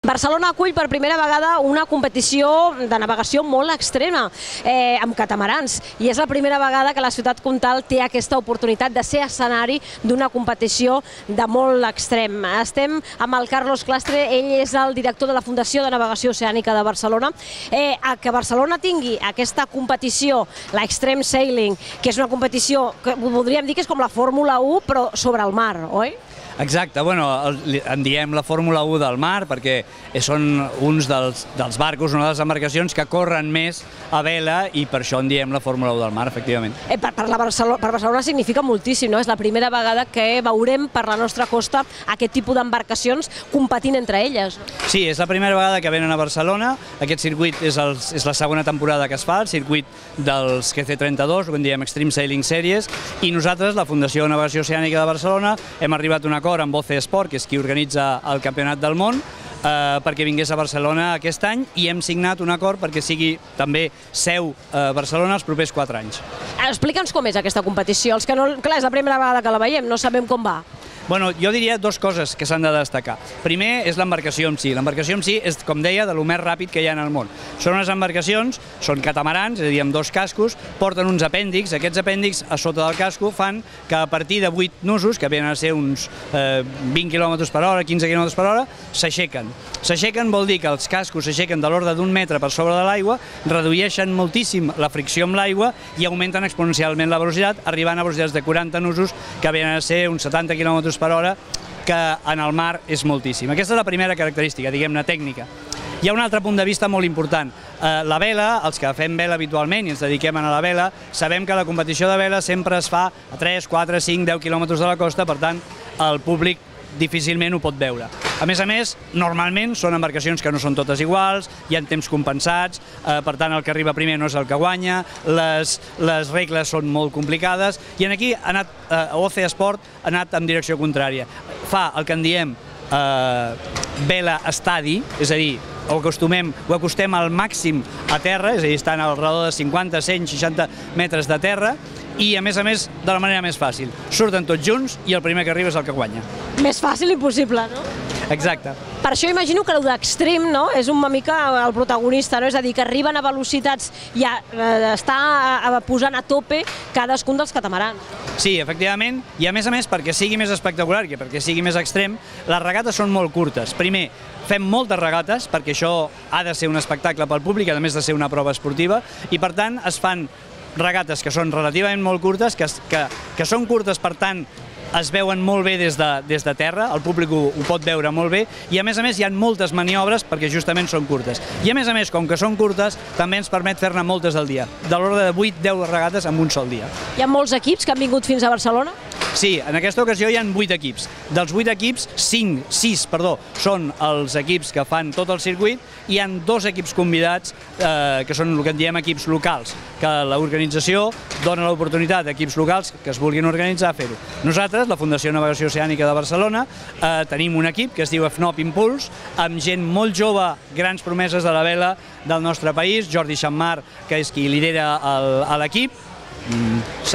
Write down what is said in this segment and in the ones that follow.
Barcelona acull per primera vegada una competició de navegació molt extrema, amb catamarans, i és la primera vegada que la ciutat comtal té aquesta oportunitat de ser escenari d'una competició de molt extrem. Estem amb el Carlos Clastre, ell és el director de la Fundació de Navegació Oceànica de Barcelona. Que Barcelona tingui aquesta competició, l'Extreme Sailing, que és una competició que podríem dir que és com la Fórmula 1, però sobre el mar, oi? Exacte, bueno, en diem la Fórmula 1 del mar perquè són uns dels barcos, una de les embarcacions que corren més a vela i per això en diem la Fórmula 1 del mar, efectivament. Per Barcelona significa moltíssim, no? És la primera vegada que veurem per la nostra costa aquest tipus d'embarcacions competint entre elles. Sí, és la primera vegada que venen a Barcelona. Aquest circuit és la segona temporada que es fa, el circuit dels GC32, ho en diem Extreme Sailing Series, i nosaltres, la Fundació de Navegació Oceànica de Barcelona, hem arribat a un acord amb OCE Sport, que és qui organitza el Campionat del Món, perquè vingués a Barcelona aquest any, i hem signat un acord perquè sigui també seu a Barcelona els propers 4 anys. Explica'ns com és aquesta competició. Els que no, clar, és la primera vegada que la veiem, no sabem com va. Bueno, jo diria dues coses que s'han de destacar. Primer és l'embarcació en si. L'embarcació en si és, com deia, de lo més ràpid que hi ha en el món. Són unes embarcacions, són catamarans, és a dir, amb 2 cascos, porten uns apèndixs. Aquests apèndixs a sota del casco fan que a partir de 8 nusos, que venen a ser uns 20 km per hora, 15 km per hora, s'aixequen. S'aixequen vol dir que els cascos s'aixequen de l'ordre d'1 metre per sobre de l'aigua, redueixen moltíssim la fricció amb l'aigua i augmenten exponencialment la velocitat, arribant a velocitats de 40 nusos, que venen a ser uns 70 km per hora, que en el mar és moltíssim. Aquesta és la primera característica, diguem-ne, tècnica. Hi ha un altre punt de vista molt important. La vela, els que fem vela habitualment i ens dediquem a la vela, sabem que la competició de vela sempre es fa a 3, 4, 5, 10 quilòmetres de la costa, per tant, el públic difícilment ho pot veure. A més, normalment són embarcacions que no són totes iguals, hi ha temps compensats, per tant el que arriba primer no és el que guanya, les regles són molt complicades, i aquí OCE Sport ha anat en direcció contrària. Fa el que en diem vela estadi, és a dir, ho acostem al màxim a terra, és a dir, estan al redor de 50, 100, 60 metres de terra, i a més de la manera més fàcil. Surten tots junts i el primer que arriba és el que guanya. Més fàcil impossible, no? Exacte. Per això imagino que el d'extrem és una mica el protagonista, és a dir, que arriben a velocitats i està posant a tope cadascun dels catamarans. Sí, efectivament, i a més perquè sigui més espectacular i perquè sigui més extrem, les regates són molt curtes. Primer, fem moltes regates, perquè això ha de ser un espectacle pel públic, a més de ser una prova esportiva, i per tant es fan regates que són relativament molt curtes, que són curtes, per tant, es veuen molt bé des de terra, el públic ho pot veure molt bé, i a més hi ha moltes maniobres perquè justament són curtes. I a més, com que són curtes, també ens permet fer-ne moltes al dia, de l'ordre de 8-10 regates en un sol dia. Hi ha molts equips que han vingut fins a Barcelona? Sí, en aquesta ocasió hi ha 8 equips. Dels 8 equips, 6 són els equips que fan tot el circuit, i hi ha 2 equips convidats, que són el que en diem equips locals, que l'organització dona l'oportunitat a equips locals que es vulguin organitzar a fer-ho. Nosaltres, la Fundació de Navegació Oceànica de Barcelona, tenim un equip que es diu FNOP Impuls, amb gent molt jove, grans promeses de la vela del nostre país, Jordi Xammar, que és qui lidera l'equip,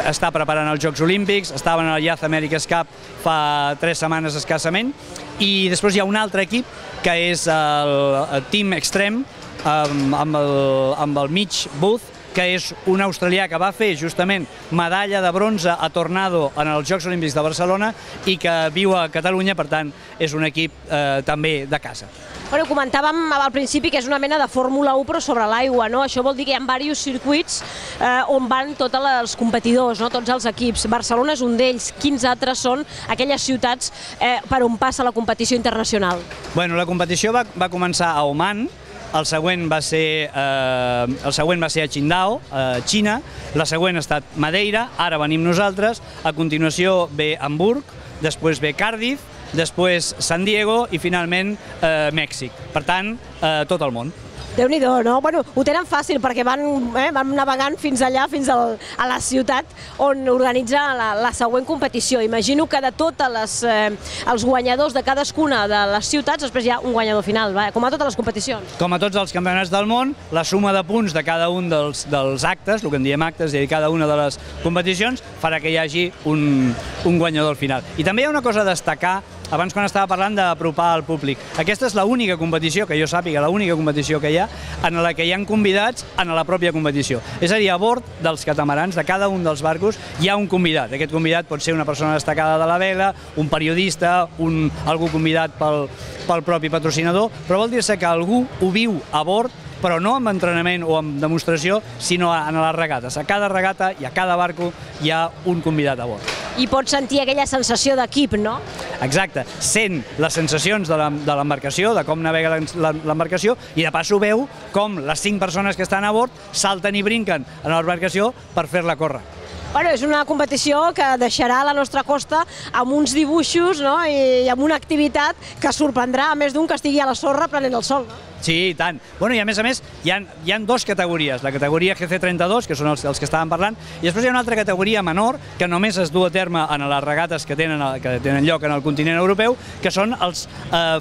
està preparant els Jocs Olímpics, estaven a la Youth America's Cup fa 3 setmanes escassament, i després hi ha un altre equip que és el Team Extreme amb el Mitch Booth, que és un australià que va fer justament medalla de bronze a Tornado en els Jocs Olímpics de Barcelona i que viu a Catalunya, per tant és un equip també de casa. Bueno, comentàvem al principi que és una mena de Fórmula 1 però sobre l'aigua, no? Això vol dir que hi ha diversos circuits on van tots els competidors, tots els equips. Barcelona és un d'ells. Quins altres són aquelles ciutats per on passa la competició internacional? Bueno, la competició va començar a Oman, el següent va ser a Qingdao, a Xina, la següent ha estat Madeira, ara venim nosaltres, a continuació ve Hamburg, després ve Cardiff, després San Diego i finalment Mèxic. Per tant, tot el món. Déu-n'hi-do, no? Bueno, ho tenen fàcil perquè van navegant fins allà, fins a la ciutat on organitza la següent competició. Imagino que de tots els guanyadors de cadascuna de les ciutats, després hi ha un guanyador final, com a totes les competicions. Com a tots els campionats del món, la suma de punts de cada un dels actes, el que en diem actes, i cada una de les competicions, farà que hi hagi un guanyador al final. I també hi ha una cosa a destacar abans quan estava parlant d'apropar al públic. Aquesta és l'única competició, que jo sàpiga, l'única competició que hi ha, en la que hi ha convidats en la pròpia competició. És a dir, a bord dels catamarans, de cada un dels barcos, hi ha un convidat. Aquest convidat pot ser una persona destacada de la vela, un periodista, algú convidat pel propi patrocinador, però vol dir-se que algú ho viu a bord, però no amb entrenament o amb demostració, sinó en les regates. A cada regata i a cada barco hi ha un convidat a bord. I pots sentir aquella sensació d'equip, no? Exacte, sent les sensacions de l'embarcació, de com navega l'embarcació, i de pas ho veu com les 5 persones que estan a bord salten i brinquen en l'embarcació per fer-la córrer. Bueno, és una competició que deixarà la nostra costa amb uns dibuixos, no? I amb una activitat que sorprendrà a més d'un que estigui a la sorra prenent el sol. No? Sí, i tant. Bueno, i a més, hi ha 2 categories. La categoria GC32, que són els que estàvem parlant, i després hi ha una altra categoria menor, que només es du a terme en les regates que tenen lloc en el continent europeu, que són els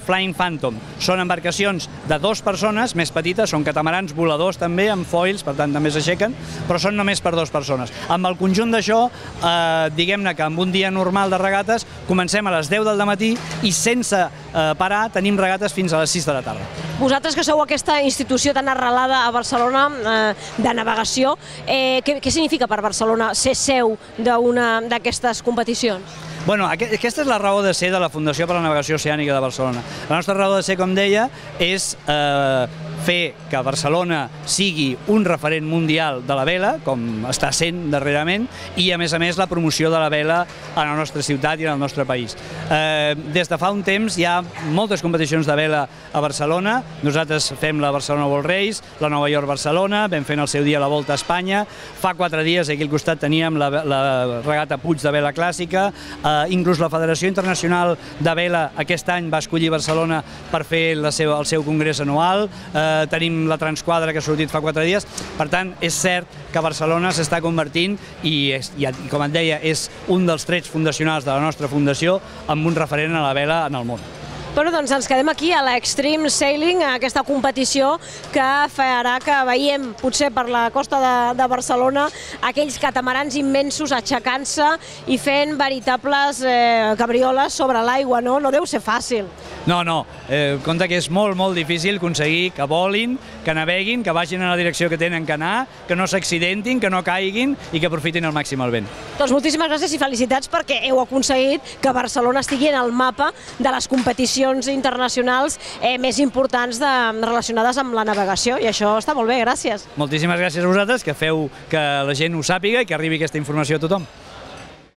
Flying Phantom. Són embarcacions de 2 persones, més petites, són catamarans voladors també, amb foils, per tant també s'aixequen, però són només per 2 persones. Amb el conjunt d'això, diguem-ne que amb un dia normal de regates, comencem a les 10 del matí i sense parar tenim regates fins a les 6 de la tarda. Vosaltres que sou aquesta institució tan arrelada a Barcelona de navegació, què significa per Barcelona ser seu d'una d'aquestes competicions? Bueno, aquesta és la raó de ser de la Fundació per la Navegació Oceànica de Barcelona. La nostra raó de ser, com deia, és fer que Barcelona sigui un referent mundial de la vela, com està sent darrerament, i a més la promoció de la vela a la nostra ciutat i al nostre país. Des de fa un temps hi ha moltes competicions de vela a Barcelona. Nosaltres fem la Barcelona World Race, la Nova York-Barcelona, vam fer en el seu dia la Volta a Espanya. Fa 4 dies aquí al costat teníem la regata Puig de vela clàssica. Inclús la Federació Internacional de Vela aquest any va escollir Barcelona per fer el seu congrés anual. Tenim la Transquadra que ha sortit fa 4 dies. Per tant, és cert que Barcelona s'està convertint i, com et deia, és un dels trets fundacionals de la nostra fundació amb un referent a la vela en el món. Bueno, doncs ens quedem aquí a l'Extreme Sailing, aquesta competició que farà que veiem, potser per la costa de Barcelona, aquells catamarans immensos aixecant-se i fent veritables cabrioles sobre l'aigua, no? No deu ser fàcil. No, compte que és molt, molt difícil aconseguir que volin, que naveguin, que vagin en la direcció que tenen que anar, que no s'accidentin, que no caiguin i que aprofitin al màxim el vent. Doncs moltíssimes gràcies i felicitats perquè heu aconseguit que Barcelona estigui en el mapa de les competicions internacionals més importants relacionades amb la navegació, i això està molt bé, gràcies. Moltíssimes gràcies a vosaltres, que feu que la gent ho sàpiga i que arribi aquesta informació a tothom.